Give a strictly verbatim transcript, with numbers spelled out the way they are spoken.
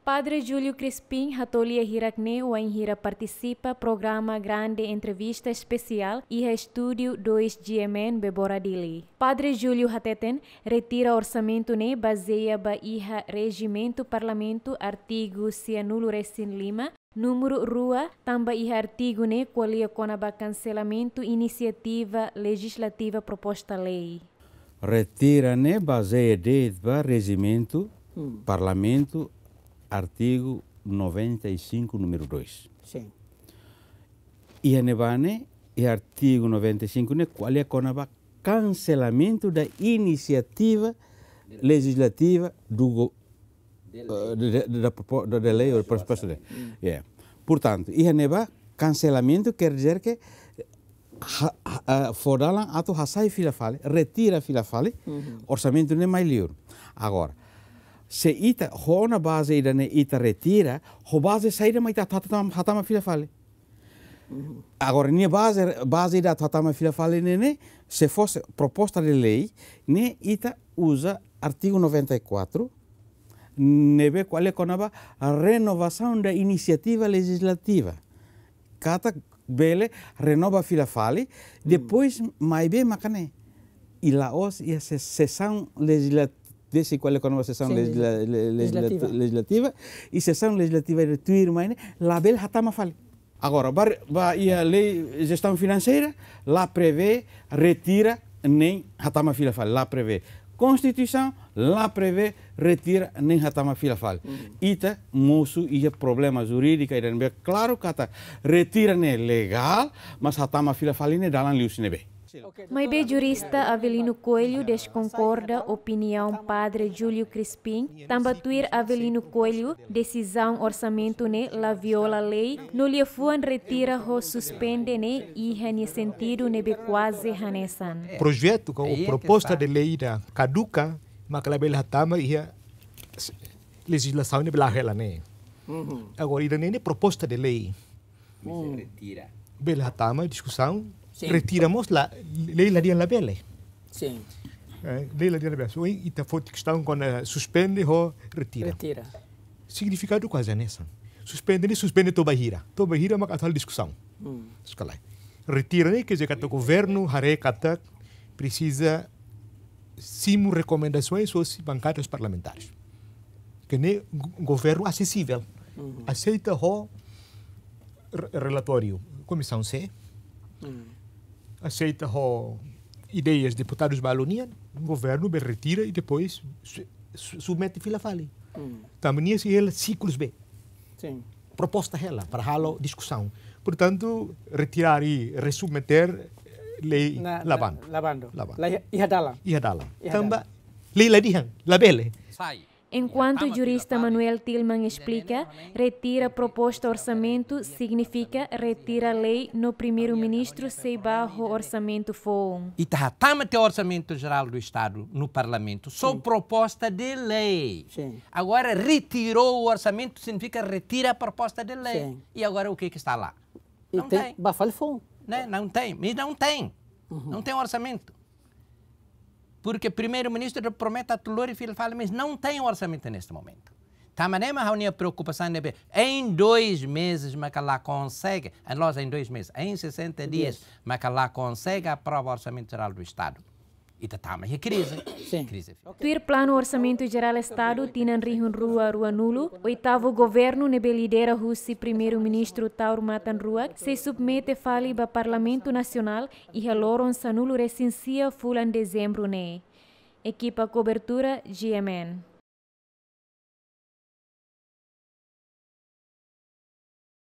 Padre Júlio Crispim hato'o lia hirak-ne'e wainhira partisipa programa Grande Entrevista Espesiál iha estúdiu dois G M N Bebora Dili. Padre Júlio hateten, retira orsamentu ne'e bazeia ba iha rejimentu parlamentu artigu sianulu resin lima, númeru rua, tanba iha artigu ne'e ko'alia kona-ba kanselamentu inisiativa lejizlativa proposta lei. Retira ne'e bazeia de'it ba rejimentu, hmm, parlamentu, artigu noventa e cinco, númeru dois. Sin. Iha ne'ebá ne'e, iha artigu noventa e cinco ne'e, ko'alia kona-ba kanselamentu da inisiativa lejizlativa do go-, eh, de, de, da propo-, da, da lei ou proposta de. Mm. Yeah. Portantu, iha ne'ebá, kanselamentu quer dizer que ha-, ha-, ah, fó dalan atu hasai fila fali, retira fila fali, uhum, orsamentu ne'e mai liur. Agora, se ita, ho ona baze ida-ne'e ita retira, ho baze saida mak ita hatama, hatama fila fali. Agora, nia baze, baze ida atu hatama fila fali ne'e, ne'e, se fosse proposta de lei, ne'e ita uza artigu noventa e quatro, ne'ebé ko'alia kona-ba renovação da iniciativa legislativa. Katak bele renova fila fali, hmm, depois maibé mak ne'e. I la'ós iha se-, sesaun legisla-, desi ko'alia kona-ba sesaun, sin, legisla-, le-, legisla-, legislativa, legislativa, i sesaun legislativa tuirmai ne'e, labele hatama fali. Agora, ba, ba iha lei jestaun finanseira, la prevee retira nem hatama fila fali, la prevee. Konstituisaun, la prevee retira nem hatama fila fali. Uhum. Ita mosu iha problema jurídika, ida ne'ebé klaru katak retira ne'e legál, mas hatama fila fali ne'e dalan liuhusi ne'ebé. Maibé jurista Avelino Coelho deskonkorda opiniaun Padre Júlio Crispim, tanba tuir Avelino Coelho, desizaun orsamentu ne'e la viola lei, no liafuan retira ho suspende ne'e iha nia sentidu ne'ebé kuaze hanesan. Projetu ka ou proposta de lei ida kaduka, mak labele hatama iha s-, lejizlasaun ne'ebé la'o hela ne'e. Uhum. Agora, ida-ne'e ne'e proposta de lei. Mas, hmm, retira. Bele hatama diskusaun, sin, retira mós la, lei la dehan labele. Sin. Eh, lei la dehan labele. So, ita foti kestaun kona suspende ho retira. Retira. Signifikadu kuaze hanesan. Suspende ne'e suspende to'o ba hira. To'o ba hira mak atu halo diskusaun. Hmm. Sekali. Retira ne'e quer dizer katak governu haree katak presiza simu rekomendasoens hosi bankadas parlamentares. Ke ne'e go-, governu asesivel. Uhum. Aseita ho re-, relatóriu Komisaun C. Uhum. Aseita ho ideias deputadus balu nian, governu bele retira i depois su-, su-, submete fila fali. Uhum. Tanba nia sei hela siklus B. Sin. Proposta hela para halo diskusaun. Portantu, retirar i resubmeter, eh, lei na, la na, bandu. La bandu. La bandu. La iha, iha dalan. Iha dalan. Iha dalan. Tanba lei la dehan labele. Sai. Enkuantu jurista Manuel Tilman esplika, retira proposta orsamentu signifika retira lei no Primeiru-Ministru sei bá ho orsamentu foun. Ita hatama tiha Orsamentu Jerál do Estadu no Parlamentu, só, sin, proposta de lei. Sin. Agora retirou o orçamento, significa retira a proposta de lei. Sin. E agora o que que está lá? E não tem, tem. Bá fali foun. Né? Não tem, mas não tem. Uhum. Não tem orçamento. Porque Primeiru-Ministru promete atu lori fila fali, mas não tem orçamento neste momento. Tanba ne'e mak ha'u-nia preokupasaun ne'ebé, em dois meses mak la konsege, em loja em dois meses, em sessenta dias, dias, mak la konsege aprova Orsamentu Jerál do Estadu. Ita tama iha krize. Sin. Krize. Tuir planu Orsamentu Jerál Estadu tinan rihun rua ruanulu, oitavu governu ne'ebé lidera husi Primeiru-Ministru Taur Matan Ruak, sei submete fali ba Parlamentu Nasionál iha loron sanulu resin sia fulan Dezembru ne'e. Ekipa kobertura G M N.